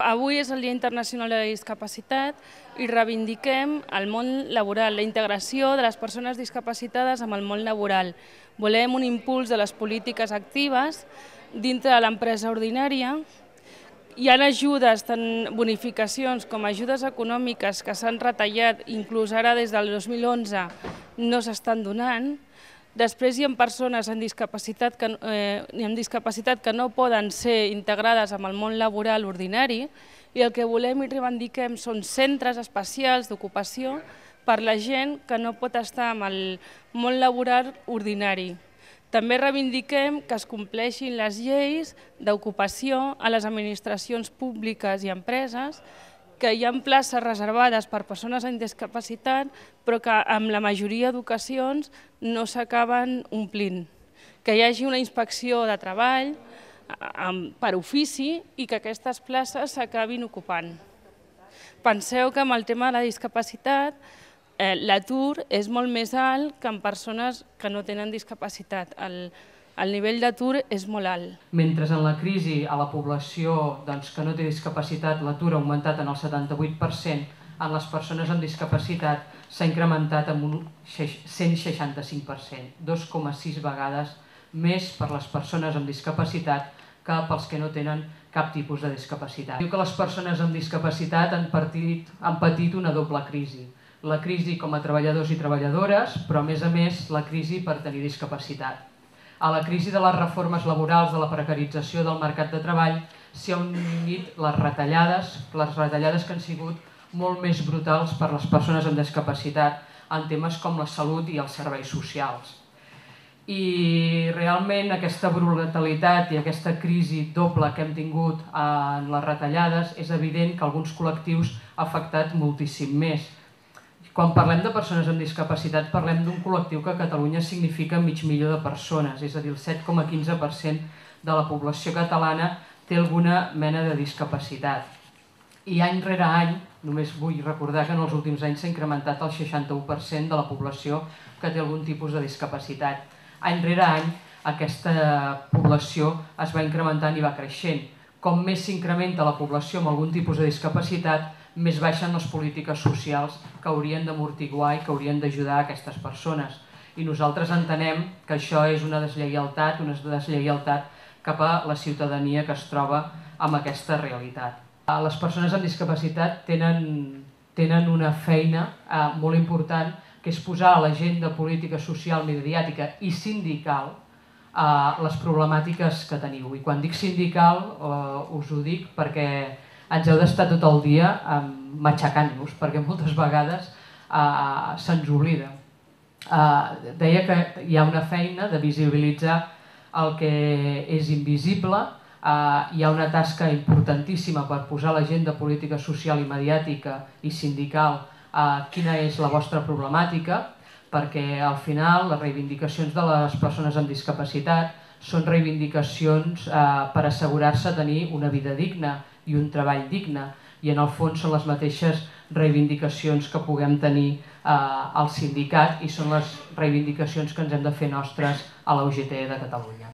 Avui és el Dia Internacional de la Discapacitat i reivindiquem el món laboral, la integració de les persones discapacitades amb el món laboral. Volem un impuls de les polítiques actives dintre de l'empresa ordinària. Hi ha ajudes, tant bonificacions com ajudes econòmiques que s'han retallat, inclús ara des del 2011 no s'estan donant. Després hi ha persones amb discapacitat que no poden ser integrades amb el món laboral ordinari i el que volem i reivindiquem són centres especials d'ocupació per a la gent que no pot estar amb el món laboral ordinari. També reivindiquem que es compleixin les lleis d'ocupació a les administracions públiques i empreses, que hi ha places reservades per persones amb discapacitat, però que amb la majoria d'ocasions no s'acaben omplint. Que hi hagi una inspecció de treball per ofici i que aquestes places s'acabin ocupant. Penseu que amb el tema de la discapacitat l'atur és molt més alt que en persones que no tenen discapacitat. El nivell d'atur és molt alt. Mentre en la crisi a la població que no té discapacitat l'atur ha augmentat en el 78%, en les persones amb discapacitat s'ha incrementat en un 165%, 2,6 vegades més per les persones amb discapacitat que pels que no tenen cap tipus de discapacitat. Diu que les persones amb discapacitat han patit una doble crisi. La crisi com a treballadors i treballadores, però a més la crisi per tenir discapacitat. A la crisi de les reformes laborals, de la precarització del mercat de treball, s'hi han unit les retallades que han sigut molt més brutals per a les persones amb discapacitat en temes com la salut i els serveis socials. I realment aquesta brutalitat i aquesta crisi doble que hem tingut en les retallades és evident que alguns col·lectius ha afectat moltíssim més. Quan parlem de persones amb discapacitat parlem d'un col·lectiu que a Catalunya significa 500.000 de persones, és a dir, el 7,15% de la població catalana té alguna mena de discapacitat. I any rere any, només vull recordar que en els últims anys s'ha incrementat el 61% de la població que té algun tipus de discapacitat. Any rere any aquesta població es va incrementant i va creixent. Com més s'incrementa la població amb algun tipus de discapacitat, més baixen les polítiques socials que haurien d'amortiguar i que haurien d'ajudar a aquestes persones. I nosaltres entenem que això és una deslleialtat cap a la ciutadania que es troba amb aquesta realitat. Les persones amb discapacitat tenen una feina molt important, que és posar a l'agenda política social, mediàtica i sindical les problemàtiques que teniu. I quan dic sindical us ho dic perquè ens heu d'estar tot el dia matxacant-nos, perquè moltes vegades se'ns oblida. Deia que hi ha una feina de visibilitzar el que és invisible, hi ha una tasca importantíssima per posar a l'agenda política social i mediàtica i sindical quina és la vostra problemàtica, perquè al final les reivindicacions de les persones amb discapacitat són reivindicacions per assegurar-se tenir una vida digna i un treball digne, i en el fons són les mateixes reivindicacions que puguem tenir al sindicat i són les reivindicacions que ens hem de fer nostres a la UGT de Catalunya.